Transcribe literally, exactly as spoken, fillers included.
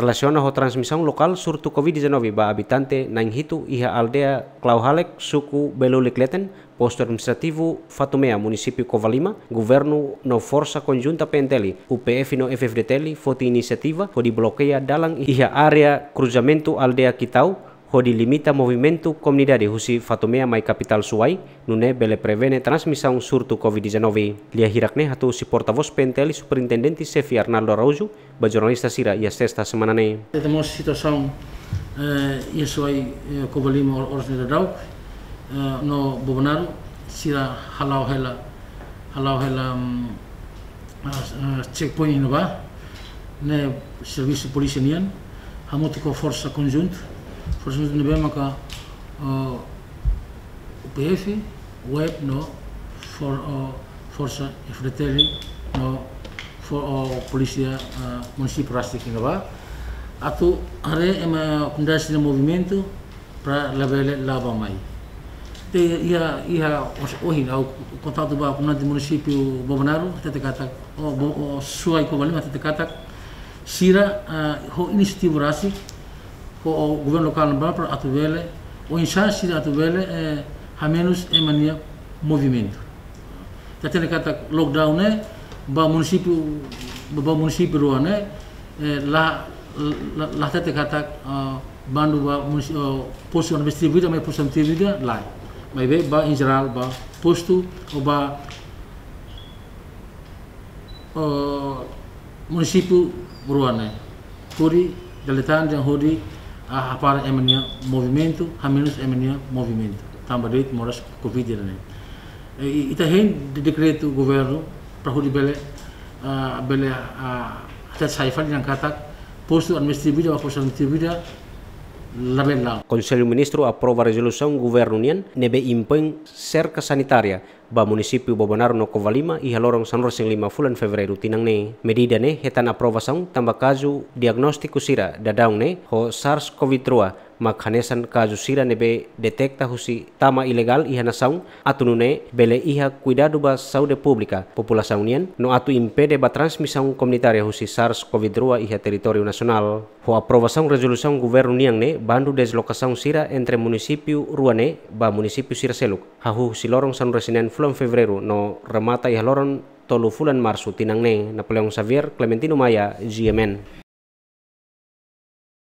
Relasiona ho transmisaun lokál surtu COVID dezanove ba abitante na'in hitu iha aldeia Klauhalek, suku Belulik Leten, postu administrativu Fatumea, munisípiu Covalima, governu no forsa konjunta P N T L, U P F no F F D T L foti inisiativa hodi blokeia dalan iha área kruzamentu aldeia Kitau, hodi limita movimentu komunidade husi Fatumea mai kapitál Suai, nune'e bele prevene transmisaun surtu COVID dezanove. Lia hirak ne'e hato'o husi portavós P N T L, Superintendente Xefe Arnaldo Araújo, ba jornalista sira iha sesta semana ne'e. Ita mós situasaun, eh, iha Suai, eh, Covalima or-, oras ne'e daudaun, eh, no Bobonaro, sira hala'o hela, hala'o hela, mm, ah, ah, checkpoint iha ne'ebá, ne'e servisu polísia nian, hamutuk ho forsa konjunta, forsa konjunta ne'ebé maka, ah, U P F, U E P no for-, ah, forsa F D T L no fo-, ah, polísia, ah, munisípiu rasik iha ne'ebá. Atu haree ema komunidade sira-nia movimentu, para labele la'o bá mai. Te iha, iha os-, ohin ha'u kontaktu ba komunidade munisípiu Bobonaro, hatete katak, o, Bo-, o, Suai Covalima hatete katak, sira, ah, ho inisiativa rasik, ho, o, governu lokál ne'ebá para atu bele, oinsá sira atu bele, eh, hamenus ema nia movimentu. Ita hatene katak lockdown ne'e, ba munisípiu, ba munisípiu rua ne'e, eh, la, la, la hatete katak, ah, bandu ba munisi-, ah, postu administrativu ida, mai postu administrativu ida, lae. Maibé ba em geral, ba postu, ou ba, ah, munisípiu rua ne'e. Hodi dala ida tan dehan hodi, ah, hapara ema nia movimentu, hamenus ema nia movimentu. Tanba de'it moras COVID ne'e. Eh, i-, ita hein de-, dekretu governu para hodi bele, ah, bele, ah, hatete sai fali dehan katak postu administrativu ida, ba postu administrativu ida, labele la'o. Konsellu Ministru aprova rezolusaun governu nian ne'ebé impoin serka sanitária ba munisípiu Bobonaro no Covalima iha loron sanulu-resin-lima fulan Fevereiru tinan ne'e. Medida ne'e hetan aprovasaun tanba kazu diagnóstiku sira daudaun ne'e ho SARS-CoV dua, mak hanesan kazu sira ne'ebé detekta husi tama ilegál iha nasaun, atu nune'e bele iha kuidadu ba saúde públika populasaun nian, no atu impede ba transmisaun komunitária husi SARS-CoV dua iha territóriu nasionál. Ho aprovasaun rezolusaun governu nian ne'e, bandu deslokasaun sira entre munisípiu rua ne'e ba munisípiu sira seluk, hahú husi loron sanulu-resin-neen fulan Fevereiru no remata iha loron tolu fulan Marsu tinan ne'e. Napoleão Xavier, Clementino Maia, G M N.